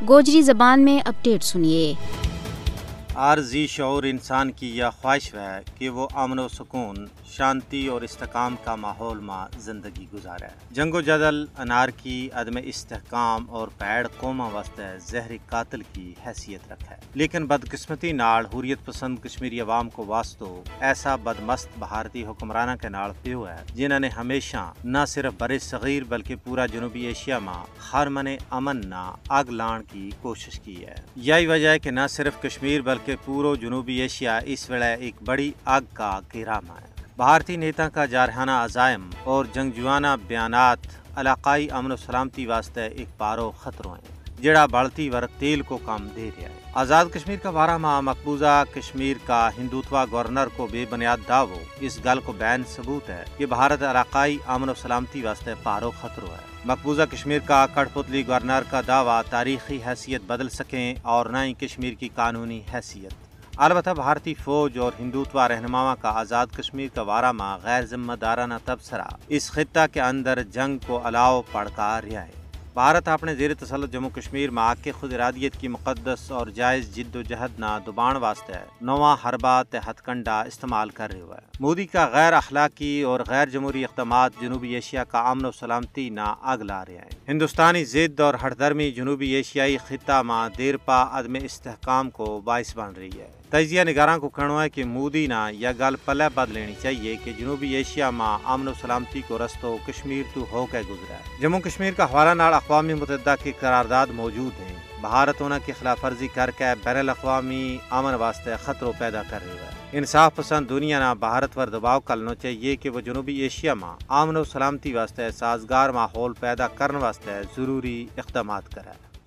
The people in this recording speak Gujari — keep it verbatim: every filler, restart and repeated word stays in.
گوجری زبان میں اپڈیٹ سنیے۔ عارضی شعور انسان کی یہ خواہش ہے کہ وہ امن و سکون، شانتی اور استحکام کا ماحول ما زندگی گزارے۔ جنگ و جدل، انارکی، عدم استحکام اور پیڑ قوماں واسطے زہری قاتل کی حیثیت رکھے، لیکن بدقسمتی نال حریت پسند کشمیری عوام کو واسطو ایسا بدمست بھارتی حکمراناں کے نال پیو ہے، جنہاں نے ہمیشہ نہ صرف برصغیر بلکہ پورا جنوبی ایشیا ما ہر منے امن نا اگ لان کی کوشش کی ہے۔ یہی وجہ ہے کہ نہ صرف کشمیر بلکہ پورو جنوبی ایشیا اس ویلے ایک بڑی اگ کا گھیرا ما ہے۔ بھارتی نیتا کا جارحانہ عزائم اور جنگجوانہ بیانات علاقائی امن و سلامتی واسطے ایک پارو خطرو ہیں، جیڑا بڑھتی ورق تیل کو کم دے رہیا ہے۔ آزاد کشمیر کا بارہ ما مقبوضہ کشمیر کا ہندوتوا گورنر کو بے بنیاد دعوو اس گل کو بین ثبوت ہے کہ بھارت علاقائی امن و سلامتی واسطے پارو خطرو ہے۔ مقبوضہ کشمیر کا کٹھ پتلی گورنر کا دعوی تاریخی حیثیت بدل سکیں اور نہ ہی کشمیر کی قانونی حیثیت۔ البتہ بھارتی فوج اور ہندوتوا رہنماواں کا آزاد کشمیر کا بارہ ما غیر ذمہ دارانہ تبصرہ اس خطہ کے اندر جنگ کو الاؤ پڑکا رہیا ہے۔ بھارت اپنے زیر تسلط جموں کشمیر ما آ کے خود ارادیت کی مقدس اور جائز جد و جہد نا دبان واسطے نواں حربہ تے ہتھ کنڈا استعمال کر رہیو ہے۔ مودی کا غیر اخلاقی اور غیر جمہوری اقدامات جنوبی ایشیا کا امن و سلامتی نا اگ لا رہیا ہیں۔ ہندوستانی ضد اور ہٹ دھرمی جنوبی ایشیائی خطہ ما دیر پا عدم استحکام کو باعث بن رہی ہے۔ تجزیہ نگاراں کو کہنو ہے کہ مودی نا یا گل پلے بد لینی چاہیے کہ جنوبی ایشیا ما امن و سلامتی کو رستو کشمیر تو ہو کے گزرا ہے۔ جموں کشمیر کا حوالہ نال اقوام متحدہ کی قرارداد موجود ہیں۔ بھارت انہاں کی خلاف ورزی کر کے بین الاقوامی امن واسطے خطرو پیدا کر رہیو ہے۔ انصاف پسند دنیا نا بھارت پر دباؤ کرنو چاہیے کہ وہ جنوبی ایشیا ما امن و سلامتی واسطے سازگار ماحول پیدا کرن واسطے ضروری اقدامات کرے۔